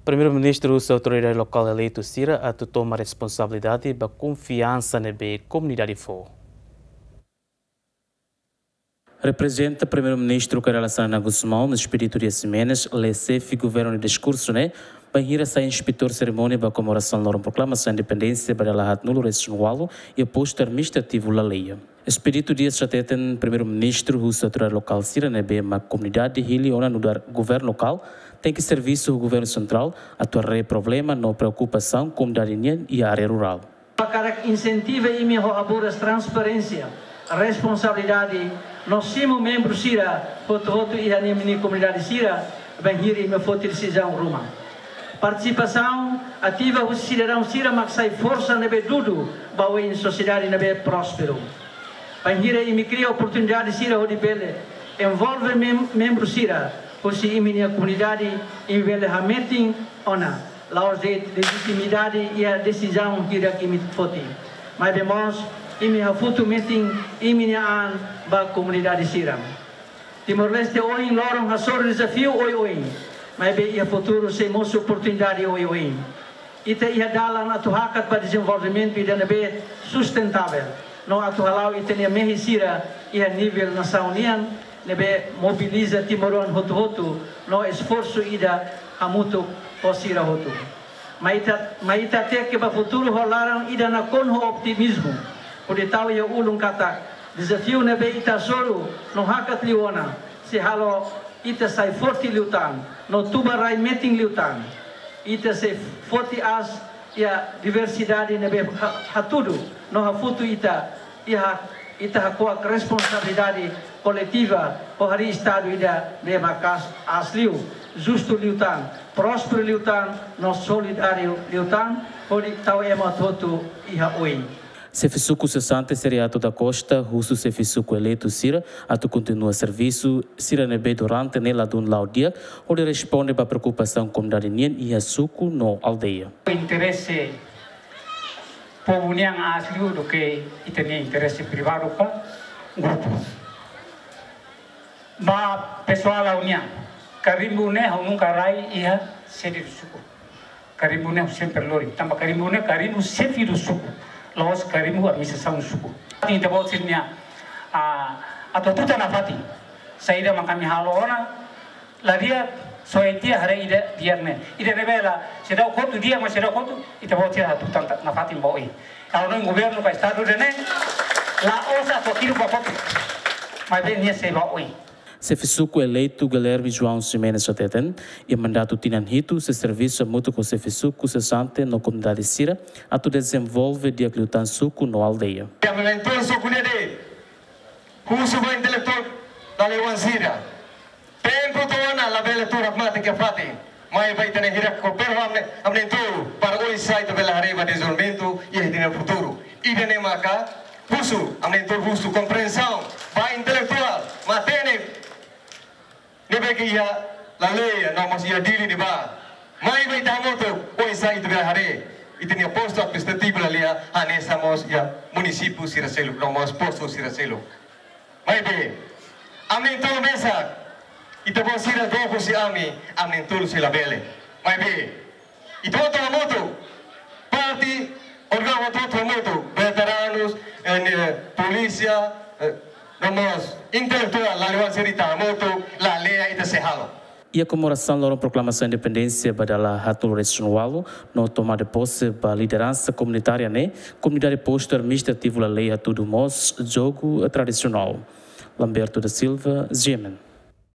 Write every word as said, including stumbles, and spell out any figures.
Primeiru-Ministru husu autoridade lokál eleitu sira atu toma responsabilidade ba konfiansa ne'ebé komunidade fó. Reprezenta Primeiru-Ministru Kay Rala Xanana Gusmão, Expedito Dias Ximenes, lee xefe governu nia diskursu ne'e, bainhira sai inspetór serimónia ba komemorasaun loron proklamasaun independénsia ba dala haatnulu-resin-ualu iha postu administrativu Laleia. Expedito Dias hateten Primeiru-Ministru husu autoridade lokál sira ne'ebé mak komunidade hili ona nu'udar governu lokál, tenke servisu ho governu sentrál atu haree problema no preokupasaun komunidade nian iha área rurál. Hakarak insentiva imi ho haburas transparénsia, responsabilidade, no simu membru sira hotu-hotu iha imi-nia komunidade sira, bainhira imi foti desizaun ruma. Partisipasaun ativa husi sidadaun sira mak sai forsa ne'ebé dudu ba oin sosiedade ne'ebé prósperu. Bainhira imi kria oportunidade sira hodi bele envolve mem-, membru sira husi imi-nia komunidade, imi bele hametin ona la'ós de'it lejitimidade iha desizaun hirak imi foti. Maibé mós, imi hafutu metin imi-nia an ba komunidade sira. Timor-Leste ohin loron hasoru dezafiu oioin, maibé iha futuru sei mosu oportunidade oioin. Ita iha dalan atu hakat ba dezenvolvimentu ida ne'ebé sustentável, no atu hala'o ita-nia mehi sira iha nivel nasaun nian, ne'ebé mobiliza timoroan hotu-hotu, no esforsu ida hamutuk ho sira hotu. Mai ita, mai ita teke ba futuru ho laran ida nakonu ho otimizmu, hodi tau iha ulun katak dezafiu ne'ebé ita hasoru no hakat liu ona, sei halo ita sai forte liután, no tuba rai metin liután. Ita sei foti aas iha diversidade ne'ebé ha-, hatudu, no hafutu ita, iha, ita hako'ak responsabilidade koletiva, ho harii Estadu ida ne'ebé maka'as aas liu, justu liután, prósperu liután, no solidáriu liután, hodi tau ema hotu-hotu iha oin. Xefe suku sesante Seriato da Costa husu xefe suku eleitu sira atu kontinua servisu sira ne'ebé durante ne'e ladún la'o di'ak, hodi responde ba preokupasaun komunidade nian iha suku no aldeia. Interese povu nian aas liu duké ita-nia interese privadu ka grupu. Ba pesoál ha'u-nian, karimbu ne'e ha'u nunka rai iha sede do suku. Karimbu ne'e ha'u sempre lori. Tanba karimbu ne'e karimbu xefe do suku. La'ós karimbu administrasaun suku. Ita-boot sira-nia, ah, atu-atu ita nafatin. Saida mak ami halo ona, la di'ak, só ita haree ida di'ak ne'e. Ida ne'ebé la seidauk kotu di'ak, mas seidauk kotu, ita-boot sira atu-atu nafatin ba oin. Ha'u hanoin governu ka Estadu ida-ne'e, la'ós atu kiru ba kotu. Maibé nia sei ba oin. Xefe suku eleitu Guilherme João Ximenes hateten, iha mandatu tinan hitu sei servisu hamutuk ho xefe suku sesante no komunidade sira atu dezenvolve di'ak liután suku no aldeia. Iha momentu suku ne'e de'it, husu ba intelektuál dala iwan sira. Tempu to'o ona labele tuur hakmatek iha fatin. Maibé ita-nia hirak koopera ho ami-nia, ami-nia entornu, para oinsá ita bele haree ba dezenvolvimentu iha ita-nia futuru. Ida-ne'e maka husu, ami-nia entornu husu komprensaun ba intelektuál matenek ne'ebé ke iha Laleia, no mós iha Dili ne'ebá. Maibé ita hamutuk, oinsá ita bele haree ita-nia postu administrativu Laleia hanesan mós iha munisípiu sira seluk, no mós postu sira seluk. Maibé, ami-nia entornu mesak, ita-boot sira dook husi ami, ami-nia entornu sei labele. Maibé, ita hotu hamutuk, parte, órgaun hotu-hotu hamutuk, veteranus, eh, polísia, eh, no mós intelektuál, dala iwan sira ita hamutuk, Laleia ita sei halo. Iha komemorasaun loron proklamasaun independénsia ba dala haatnulu-resin-ualu, no tomada de pose ba lideransa komunitária ne'e, komunidade postu administrativu Laleia hatudu mós jogu tradisionál. Lamberto da Silva, G M N.